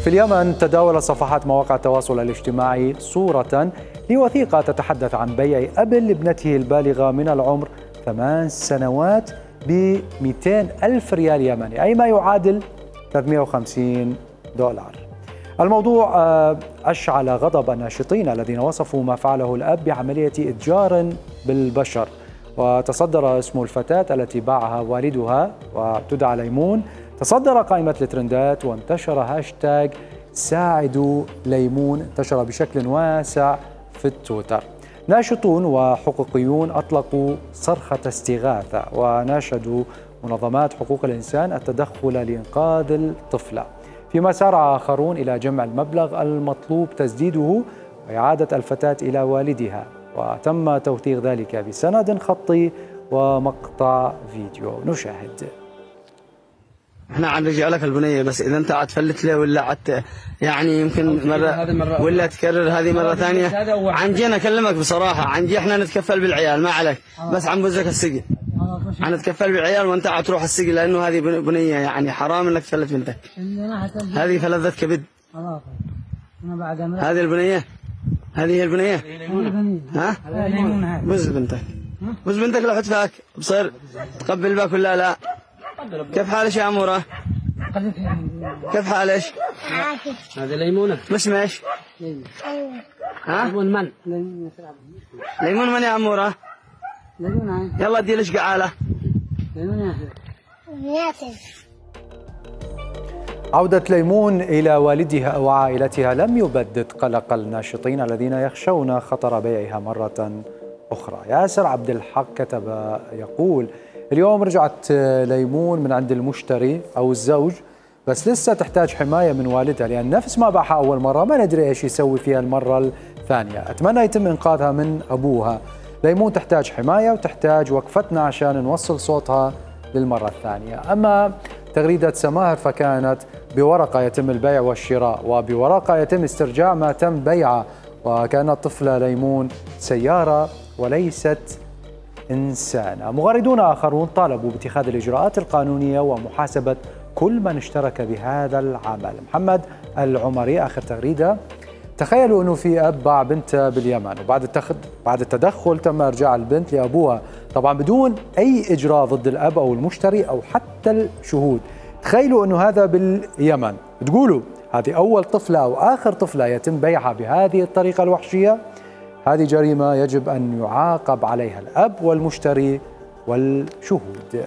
في اليمن تداولت صفحات مواقع التواصل الاجتماعي صورة لوثيقة تتحدث عن بيع أب لابنته البالغة من العمر 8 سنوات ب 200 ألف ريال يمني، أي ما يعادل $350. الموضوع أشعل غضب الناشطين الذين وصفوا ما فعله الأب بعملية إتجار بالبشر. وتصدر اسم الفتاة التي باعها والدها وتدعى ليمون تصدر قائمة الترندات، وانتشر هاشتاج ساعدوا ليمون، انتشر بشكل واسع في التويتر. ناشطون وحقوقيون أطلقوا صرخة استغاثة وناشدوا منظمات حقوق الإنسان التدخل لإنقاذ الطفلة، فيما سارع آخرون إلى جمع المبلغ المطلوب تسديده وإعادة الفتاة إلى والدها، وتم توثيق ذلك بسند خطي ومقطع فيديو. نشاهد. احنا حنرجع لك البنيه، بس اذا انت عاد تفلت له ولا عاد يعني يمكن مره ولا تكرر هذه مره ثانيه. عنجي انا اكلمك بصراحه، عنجي احنا نتكفل بالعيال ما عليك، بس حنبوزك السجن. حنتكفل بالعيال وانت عاد تروح السجن، لانه هذه بنيه يعني حرام انك تفلت بنتك. هذه فلذة كبد. هذه البنيه، هذه هي البنيه. ها؟ بوز بنتك، بوز بنتك لو حد فاك بصير تقبل باك ولا لا؟ كيف حالك يا عمورة؟ كيف حالك؟ هذه ليمونة. مش ماشي؟ ها؟ ليمون من؟ ليمون من يا عمورة؟ ليمون. يلا ادي لك قعالة. ليمون يا عودة ليمون إلى والدها وعائلتها لم يبدد قلق الناشطين الذين يخشون خطر بيعها مرة أخرى. ياسر عبد الحق كتب يقول: اليوم رجعت ليمون من عند المشتري أو الزوج، بس لسه تحتاج حماية من والدها، لأن نفس ما باعها أول مرة ما ندري إيش يسوي فيها المرة الثانية. أتمنى يتم إنقاذها من أبوها. ليمون تحتاج حماية وتحتاج وقفتنا عشان نوصل صوتها للمرة الثانية. أما تغريدة سماهر فكانت: بورقة يتم البيع والشراء، وبورقة يتم استرجاع ما تم بيعه، وكان الطفلة ليمون سيارة وليست إنسانة. مغردون آخرون طالبوا باتخاذ الإجراءات القانونية ومحاسبة كل من اشترك بهذا العمل. محمد العمري آخر تغريدة: تخيلوا أنه في أب باع بنته باليمن، وبعد التدخل تم إرجاع البنت لأبوها، طبعا بدون أي إجراء ضد الأب أو المشتري أو حتى الشهود. تخيلوا أنه هذا باليمن، تقولوا هذه أول طفلة أو آخر طفلة يتم بيعها بهذه الطريقة الوحشية. هذه جريمة يجب أن يعاقب عليها الأب والمشتري والشهود.